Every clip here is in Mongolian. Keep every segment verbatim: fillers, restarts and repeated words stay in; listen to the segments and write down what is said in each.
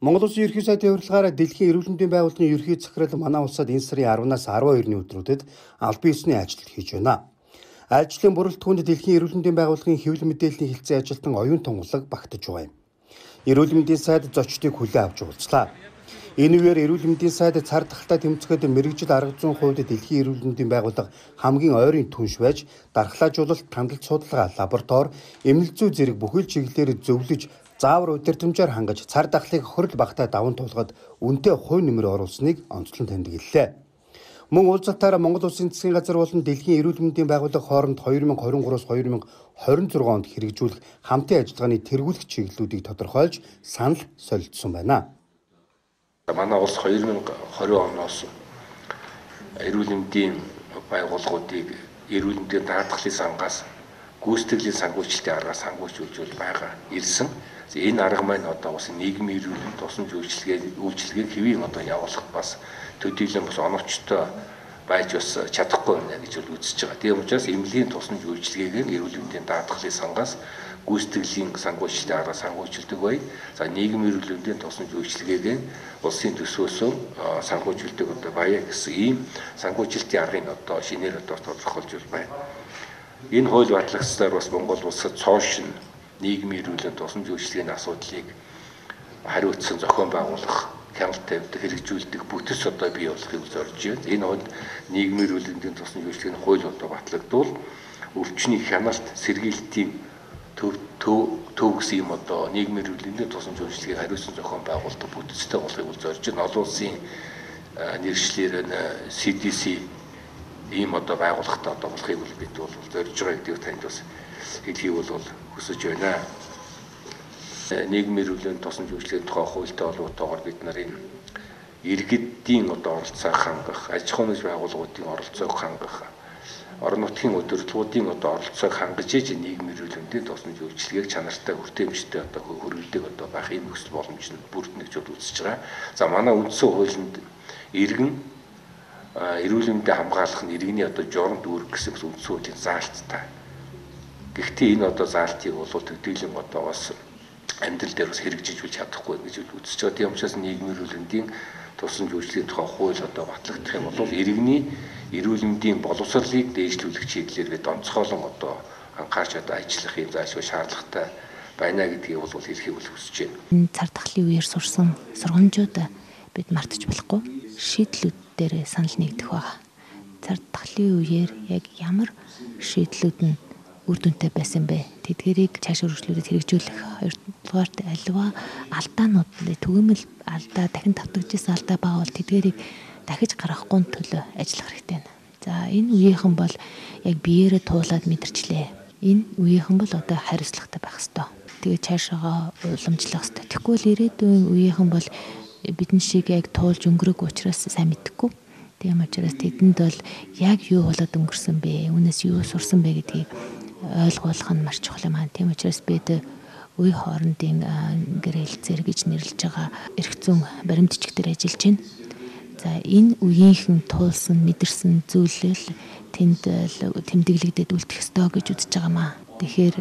Монгол Улсын ерөнхий сайдын урилгаараа дэлхийн эрүүл мэндийн байгууллагын ерөнхий захирал манай улсад энэ сарын аравнаас арван хоёрны өдрүүдэд албан ёсны ажил хийж байна. Ажлын бүрэлдэхүүнд дэлхийн эрүүл мэндийн байгууллагын хэвлэл мэдээллийн хэлтсийн ажилтан оюун тунгалаг багтаж байгаа юм. Эрүүл мэндийн сайд зочдыг хүлээн авч уулзлаа. Энэ үеэр эрүүл мэндийн сайд цар тахалтай тэмцэхэд мэрэгжил арга зүйн хувьд дэлхийн эрүүл мэндийн байгууллага хамгийн ойрын түнш байж дархлаажуулалт, хяналт судалгаа, лаборатори, эмнэлэг зүй зэрэг бүхэл чиглэлээр зөвлөж заавар удирдамжаар хангаж цар тахлыг хөрөл багтаа даван туулахад үнэтэй хувь нэмэр оруулсныг онцлон тэмдэглэлээ. Мөн уулзалтаараа Монгол Улсын засгийн газар болон дэлхийн эрүүл мэндийн байгууллага хооронд две тысячи двадцать три-аас две тысячи двадцать шесть онд хэрэгжүүлэх хамтын ажиллагааны тэргүүлэх чиглэлүүдийг тодорхойлж санал солилцсон байна. Манай улс две тысячи двадцать оноос эрүүл мэндийн байгууллагуудыг эрүүл мэндийн даатгалын сангаас гүйцэтгэлийн санхүүжилтийн аргаас санхүүжүүлж байгаа ирсэн. Энэ арга маань одоо бас нийгмийн эрүүл тусламж үйлчилгээ үйлчилгээг хэвийн одоо явуулах бас төдийлөн бас оновчтой байж бас чадахгүй байна гэж үзэж байгаа. Тийм учраас эмнэлгийн тусламж үйлчилгээг эрүүл мэндийн даатгалын сангаас гүйцэтгэлийн санхүүжилтийн аргаас санхүүжилдэг бай. За нийгмийн эрүүл мэндийн тусламж үйлчилгээг улсын төсвөөсөө санхүүжилдэг одоо баяа гэсэн ийм санхүүжилтийн аргыг одоо шинээр одоо тодорхойлж байна. Энэ хууль батлагцаар бас Монгол улсад цоошин нийгмийн эрүүл тусламж үйлчилгээний асуудлыг хариуцсан зохион байгуулах, хяналт тавьдаг, хэрэгжүүлдэг бүтэц одоо бий болохыг зорж байна. Энэ хууль нийгмийн эрүүл тусламж үйлчилгээний хууль одоо батлагдвал өвчний хяналт, сэргийлтийн төв төв гэсэн юм одоо нийгмийн эрүүл тусламж үйлчилгээг хариуцсан зохион байгуулдаг бүтэцтэй болохыг зорж байна. Олон улсын нэршлэр си ди си ийм одоо байгууллагатай одоо болохыг бид бол зорж байгаа гэдгийг танд бас хэлхийг бол хүсэж байна. Нийгмийн эрүүл тусламж үйлчилгээний тухай хуультай холбоотойгоор бид нарын иргэдийн одоо оролцоог хангах, аж ахуйн байгууллагуудын оролцоог хангах, орон нутгийн удирдлагуудын одоо оролцоог хангаж иж нийгмийн эрүүл тусламж үйлчилгээг чанартай хүртээмжтэй одоо хөрвүүлдэг одоо байх ийм нөхцөл боломж нь бүрдэнэ гэж үзэж байгаа. За манай үндсэн хуулинд иргэн эрүүл мэндийг хамгаалах нь иргэний одоо журам дүүрэг гэсэн үндсэн хуулийн заалттай. Гэхдээ энэ одоо заалтыг бол төдийлөн одоо бас амьдрал дээр бас хэрэгжиж үл чадахгүй гэж үзэж байгаа. Тийм учраас нийгмийн эрүүл мэндийн тусламж үйлчилгээний тухай хууль одоо батлагдах юм бол иргэний эрүүл мэндийн боловсролыг дээшлүүлэх чиглэлээр бид онцгойлон одоо анхаарч одоо ажиллах юм заашгүй шаардлагатай байна гэдгийг бол хэлхийг хүсэж байна. Энэ цар тахлын үеэр сурсан сургамжууд бид мартаж болохгүй шийдлүүд дээр санал нэгдэх байгаа. Цар тахлын үеэр яг ямар шийдлүүд нь үр дүнтэй байсан бэ? Тэдгэрийг цааш өргөжлүүлээд хэрэгжүүлэх хоёрдугаарт аливаа алдаанууд түгээмэл алдаа дахин давтагдчихсан алдаа байгаа бол тэдгэрийг дахиж гаргахгүй төлөө ажиллах хэрэгтэй байна. За энэ үеийнхэн бол яг биеэрээ туулаад мэдэрчлээ. Энэ үеийнхэн бол одоо хариуцлагатай байх ёстой. Тэгээд цаашаага уламжлах ёстой. Тэгэхгүй л ирээдүйн үеийнхэн бол бидний шиг яг туулж өнгөрөөг учраас сайн мэдэхгүй. Тийм учраас тэдэнд бол яг юу болоод өнгөрсөн бэ? Үүнээс юу сурсан бэ гэдгийг ойлгуулах нь маш чухал юм аа. Тийм учраас бид үе хоорондын гэрээлцээр гэж нэрлэж байгаа эрх зүйн баримтчиг дээр ажиллаж байна. За энэ үеийнхэн туулсан, мэдэрсэн зүйлэл тэнд тэмдэглэгдээд үлдэх ёстой гэж үзэж байгаа маа. Тэгэхээр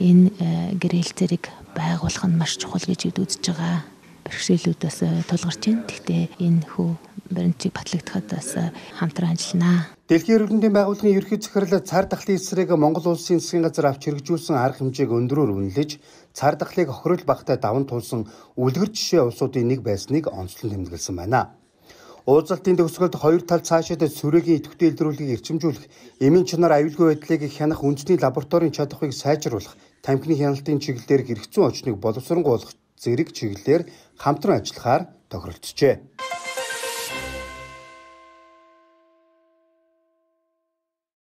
энэ гэрээлцэрийг байгуулах нь маш чухал гэж үзэж байгаа. Бэрхшээлүүд бас тулгарч байна. Гэхдээ энэ хүү баримтчиг батлагдахад бас хамтран ажилланаа. Дэлхийн эрүүл мэндийн байгууллагын ерөнхий захирал цар тахлын эсрэг Монгол Улсын засгийн газар авч хэрэгжүүлсэн арга хэмжээг өндрөөр үнэлж, цар тахлыг хохирол багтаа даван туулсан үлгэр жишээ улсуудын нэг байсныг онцлон тэмдэглэсэн байна. Уулзалтын төгсгөлд хоёр тал цаашид сүрээгийн идэвхтэй илрүүлгийг эрчимжүүлэх, эмийн чанар аюулгүй байдлыг хянах үндэсний лабораторийн чадварыг сайжруулах, тамхины хяналтын чиглэлээр хэрэгцээ очныг боловсронгуй болгох зэрэг чиглэлээр хамтран ажиллахаар тохиролцжээ.